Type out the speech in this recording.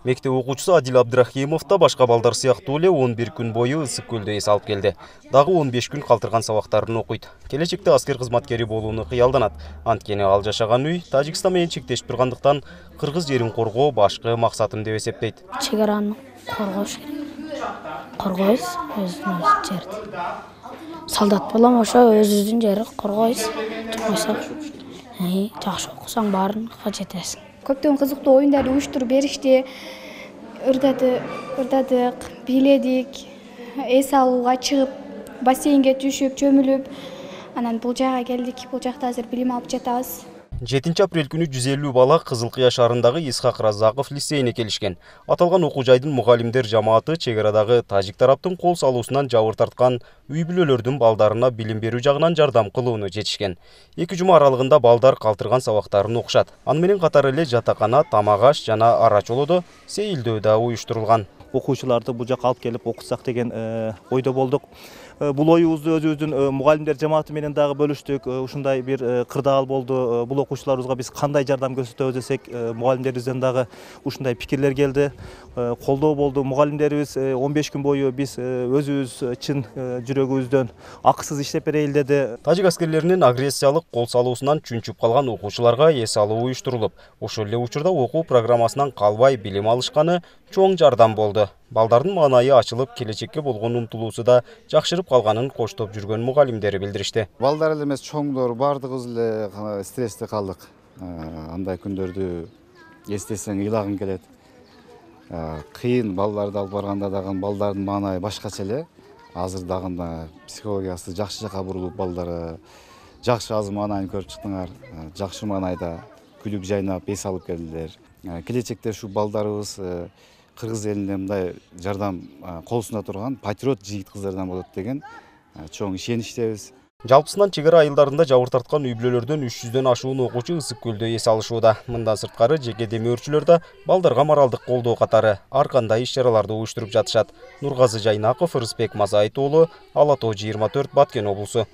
Мектеп окуучусу Адил Абдрахимов да башка балдар сыяктуу эле 11 күн бою ысык көлдө эс алып келди. Дагы 15 күн калтырган сабактарын окуйт. Келечекте аскер кызматкери болууну кыялданат. Анткени ал жашаган үй Тажикстан менен чектешип тургандыктан кыргыз жерин коргоо башкы максатым деп эсептейт. Чегараны коргош керек. Коргойбуз өзүбүздүн жерди. Солдат болом, ошо өзүбүздүн жерди коргойбуз. Жакшы окусаң баарын жетесиң. Көптөгөн кызыктуу оюндарды уюштуруп беришти. Ырдадык, бийледик, эс алууга чыгып, бассейнге түшүп, чөмүлүп, анан бул жакка келдик. Бул жакта азыр билим алып жатабыз. 7 апрель күнү 150 бала Кызыл Кыя шаарындагы Исхак Разаков лицейине келишкен. Аталган окуу жайдын мугалимдер жамааты чек арадагы тажик тараптын кол салуусунан жабыр тарткан үй бүлөлөрдүн балдарына билим берүү жагынан жардам кылууну жетишкен. 2 жума аралыгында балдар калтырган сабактарын окушат. Аны менен катар эле жатакана, тамак аш жана ара чолодо сейилдөө да уюштурулган. Окуучуларды бул жакка алып келип окутсак деген ойдо болдук. Бул оюбузду өзүбүздүн мугалимдер жамааты менен дагы бөлүштүк. Ушундай бир кырдаал болду. Бул окуучуларыбызга биз кандай жардам көрсөтөбүз десек, мугалимдерибизден дагы ушундай пикирлер келди. Колдоо болду. Мугалимдерибиз 15 күн бою биз өзүбүз чын жүрөгүбүздөн акысыз иштеп берейин деди. Тажик аскерлеринин агрессиялык кол салуусунан чүнчүп калган окуучуларга эс алуу уюштурулуп, ошол эле учурда окуу программасынан калбай билим алышканы чоң жардам болду. Балдардын маанайы ачылып, келечекке болгон умтулуусу да жакшырып калганын коштоп жүргөн мугалимдери билдиришти. Балдар эле эмес, чоңдор баардыгыбыз эле стрессте калдык. Андай күндөрдү эстесең ыйлагың келет. Кыйын балдарды алып барганда дагы балдардын маанайы башкача эле. Азыр дагы психологиясы жакшы жакка бурулуп, балдар жакшы азыр маанайын көрүп чыктыңар. Жакшы маанайда күлүп жайнап эс алып келдилер. Келечекте ушу балдарыбыз кыргыз элине мындай жардам колусунда турган патриот жигит кыздардан болот деген чоң ишеничтебиз. Жалпысынан чек ара айылдарында жабыр тарткан үй бүлөлөрдөн 300дөн ашуун окуучу ысык көлдө эс алышууда. Мындан сырткары жеке демөөрчүлөр да балдарга моралдык колдоо катары ар кандай иш-чараларды уюштуруп жатышат. Нургазы Жайнаков, Рысбек Мазайыт уулу, Ала Тоо 24, Баткен облусу.